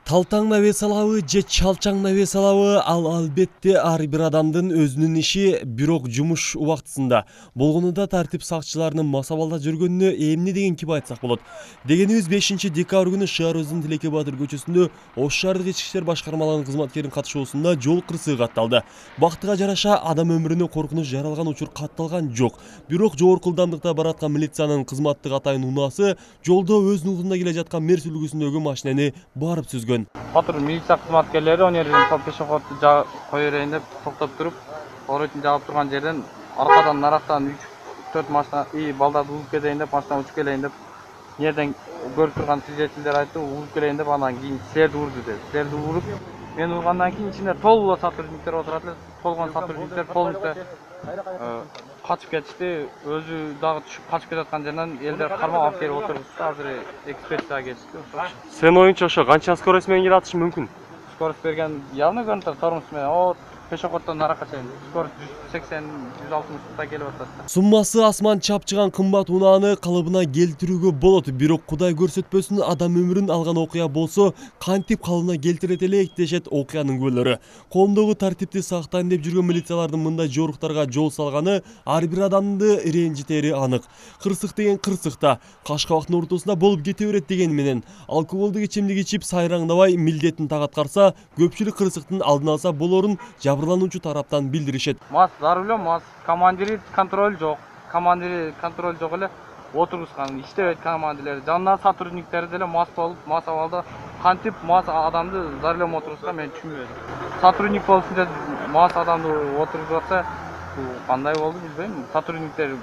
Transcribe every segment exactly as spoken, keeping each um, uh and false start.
Талтаң навес алабы же чалчаң навес алабы, ал албетте ар бир адамдын өзүнүн иши, бирок жумуш убактысында болгонунда тартип сакчыларынын масабалда жүргөнүнө эмне деген ким айтсак болот. Дегенибиз бешинчи декабрь күнү шаарыбыздын Тилеке Батыр көчөсүндө Ош шаардык ички иштер башкармалыгынын кызматкеринин катышуусунда жол кырсыгы катталды. Бактыга жараша адам өмүрүнө коркунуч жаралган учур катталган жок. Бирок жогорку ылдамдыкта бараткан милициянын кызматтык атайын унаасы жолдо өзүнүн узунда келе жаткан Мерс үлгүсүндөгү машинени барып сүзгөн. Патруль милиция кызматкерлери он жерден пешеходду кое берейин деп токтоп туруп, оротун жаап турган жерден аркадан нарактан үч төрт машина и балдарды угуп кетейин деп машина учуп келейин деп жерден көрүп турган свидетелдер айтты, угуп келейин деп анан кийин силерди урду деп. Силерди уруп, мен ургандан кийин ичинде толугу сотрудниктер отурат эле. Толгон сотрудниктер полностью качып кетишти. Өзү дагы түшүп качып кетаткан жерден элдер кармап алып келип отургузду. Азыр экспертизага кетишти. Сен оюнча ошо канча скорость менен келе атышы мүмкүн? Скорость берген явно көрүнүп турат, тормоз менен. О, пешеходдон наракка чейин скорость жүз сексен жүз алтымышта келип атат. Суммасы асман чапчыган кымбат унааны калыбына келтирүүгө болот, бирок Кудай көрсөтпөсүн адам өмүрүн алган окуя болсо, кантип калыбына келтирет элек дешет окуянын күбөлөрү. Коомдогу тартипти сактайм деп жүргөн милициялардын мындай жоруктарга жол салганы ар бир адамды ренжитери анык. Кырсык деген кырсыкта, Кашкабактын ортосунда болуп кете берет деген менен алкоголдук ичимдик ичип сайраңдабай милдетин так аткарса, көпчүлүк кырсыктын алдын алса болорун жабырлануучу тараптан билдиришет. Мас за рулем, мас командири контроль жок. Командири контроль жок эле отургузган, иштебейт командирлер. Жанына сотрудниктери деле мас болуп, мас абалда кантип мас адамды за рулем отургузган мен түшүнбөдүм. Сотрудник болсун деп мас адамды отургузуп атса, кандай болду билбейм. Сотрудниктер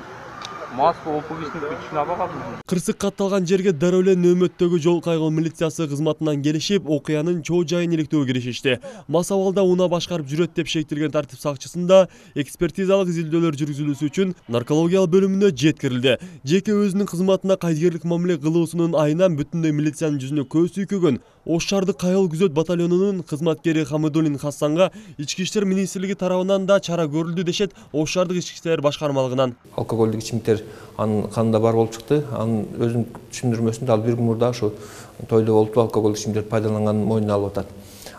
мас опугичник түшүнө албай калдым. Кырсык катталган жерге дароо эле нөөмөттөгү жол кайгыл милициясы кызматынан келишип, окуянын чоо жайын иликтөөгө киришишти. Мас абалда унаа башкарып жүрөт деп шектелген тартип сакчысында экспертизалык изилдөөлөр жүргүзүлүүсү үчүн наркологиялык бөлүмүнө жеткирилди. Жеке өзүнүн кызматына кайдыгерлик мамиле кылуусунун айынан бүтүндөй милициянын жүзүнө көз сүйкөгөн Ош шаардык кайгыл күзөт батальонунун кызматкери Хамидуллин Хасанга ички иштер министрлиги тарабынан да чара көрүлдү дешет Ош шаардык ички иштер башкармалыгынан. Алкогольдук ичимдиктер анын канында бар болуп чыкты. Анын өзүнүн түшүндүрмөсүндө ал бир күн мурда ошо тойдо болуп алкогольдук ичимдиктерди пайдаланганын мойнуна алып атат.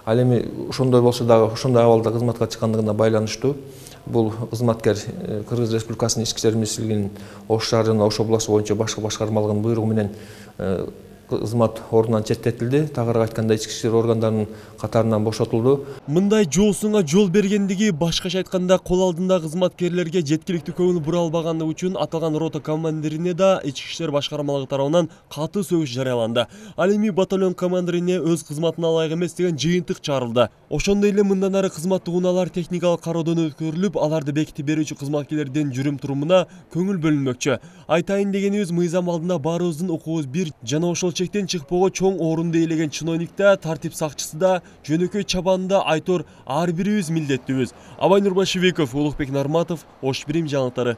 Ал эми ошондой болсо дагы ошондой абалда кызматка чыккандыгына байланыштуу бул кызматкер Кыргыз Республикасынын ички иштер министрлигинин Ош шаар жана Ош областы боюнча башкы башкармалыгынын буйругу менен кызмат ордунан четтетилди. Тагыраак айтканда ички иштер органдарынын катарынан бошотулду. Мындай жоосуңа жол бергендиги, башкача айтканда кол алдында кызматкерлерге жеткиликтүү көңүл бура албагандыгы үчүн аталган рота командирине да ички иштер башкармалыгы тарабынан катуу сөгүш жарыяланды. Ал эми батальон командирине өз кызматына ылайык эмес деген жыйынтык чыгарылды. Ошондой эле мындан ары кызматтык унаалар техникалык кароодон өткөрүлүп, аларды бекитип берүүчү кызматкерлердин жүрүм-турумуна көңүл бөлүнмөкчү. Айтайын дегенибиз, мыйзам алдында баарыбыздын укугубуз бир жана ошол чектен чыкпоого чоң орунду ээлеген чиновник да, тартип сакчысы да, жөнөкөй чабанында айтор ар бирибиз милдеттүүбүз. Абай Нурбашевиков, Улукбек Нарматов, Ош Бирим жаңылыктары.